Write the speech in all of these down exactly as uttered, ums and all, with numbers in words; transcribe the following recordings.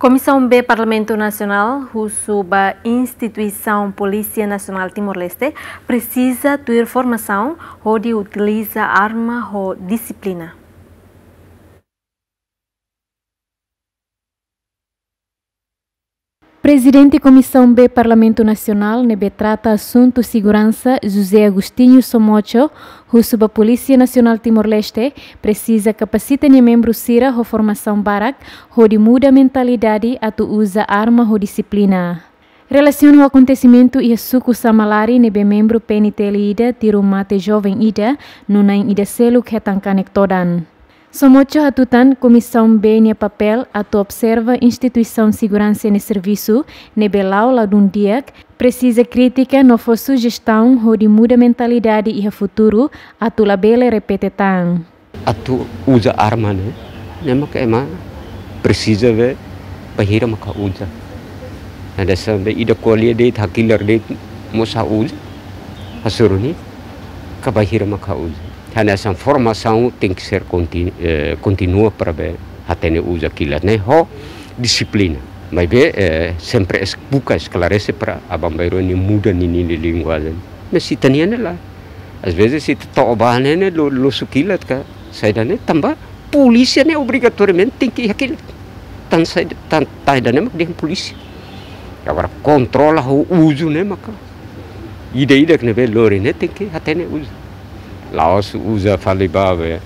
Komisaun B Parlamentu Nasionál husu ba instituisaun Polísia Nasionál Timor-Leste presiza tuir formasaun hodi utiliza arma ho dixiplina. Prezidente Komisaun B Parlamentu Nasionál ne'ebé trata asuntu seguransa, José Agostinho Somocho, husu ba Polísia Nasionál Timor-Leste presiza kapasita nia membru sira ho formasaun barak hodi muda mentalidade atu uza arma ho dixiplina. Relasiona ho akontesimentu iha suku Samalari ne'ebé membru P N T L ida tiru mate joven ida no na'in ida seluk hetan kanek todan. Somocho hatutan Komisaun B nia papél atu observa instituisaun seguransa nia servisu ne'ebé la'o ladún di'ak, presiza kritika no fó sujestaun hodi muda mentalidade iha futuru atu labele repete tan. Atu uza arma ne'e, ne'e maka ema presiza be bainhira maka uza. Hanesan be ida ko'alia de'it, hakilar de'it mós ha'u uza, hasoru ne'e ka bainhira maka uza. Hanesan formasaun tenke ser konti-, eh, kontinua para be hatene uza kilat ne'e ho dixiplina. Maibé, eh, sempre es-, buka esklarese para aban-bainrua nia muda ninia linguajen. Mas ita-nian ne'e lae. Às vezes ita to'o ba ne'e, ne'e lo-, losu kilat ka saida ne'e, tanba polísia ne'e obrigatoriamente tenke iha kilat. Tan saida, tan, tan saida ne'e mak dehan polísia. Agora kontrola ho uzu ne'e maka ida-idak ne'ebé lori ne'e tenke hatene uza. La'ós uza fali ba be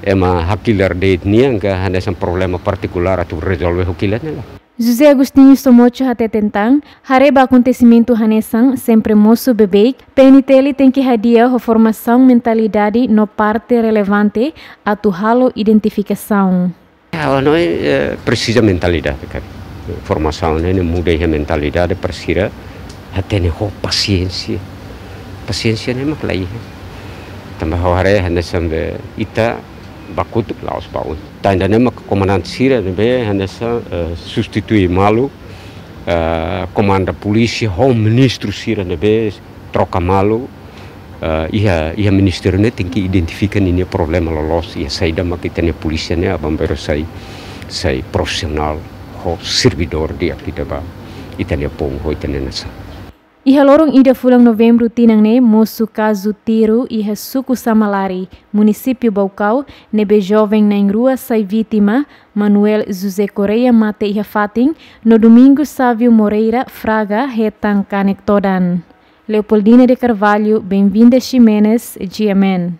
ema hakilar de'it nian ka hanesan problema partikulár atu rezolve ho kilat ne'e lae. José Agostinho Somocho hateten tan, haree ba akontesimentu hanesan sempre mosu beibeik, P N T L tenke hadi'a ho formasaun mentalidade no parte relevante atu halo identifikasaun. Ha'u hanoin, eh, presiza mentalidade, kan. Formasaun ne'e muda iha mentalidade para sira hatene ho pasiénsia. Pasiénsia ne'e mak la iha. Tanba ha'u haree hanesan be ita bakutuk la'ós ba oin. Tan saida ne'e mak komandante sira ne'ebé hanesan, eh, substitui malu, eh, komanda polísia ho ministru sira ne'ebé troka malu, eh, iha, iha ministériu ne'e tenke identifika ninia problema loloos, iha saida mak ita-nia polísia ne'e aban-bainrua sai, sai profisionál ho servidór di'ak ida ba ita-nia povu ho ita-nia nasaun. Iha loron ida fulan Novembru tinan ne'e mosu kazu tiru iha suku Samalari, munisípiu Baucau, ne'ebé joven na'in-rua sai vítima, Manuel José Correia mate iha fatin, no Domingos Sávio Moreira Fraga hetan kanek todan. Leopoldina de Carvalho, Benvinda Ximenes, G M N.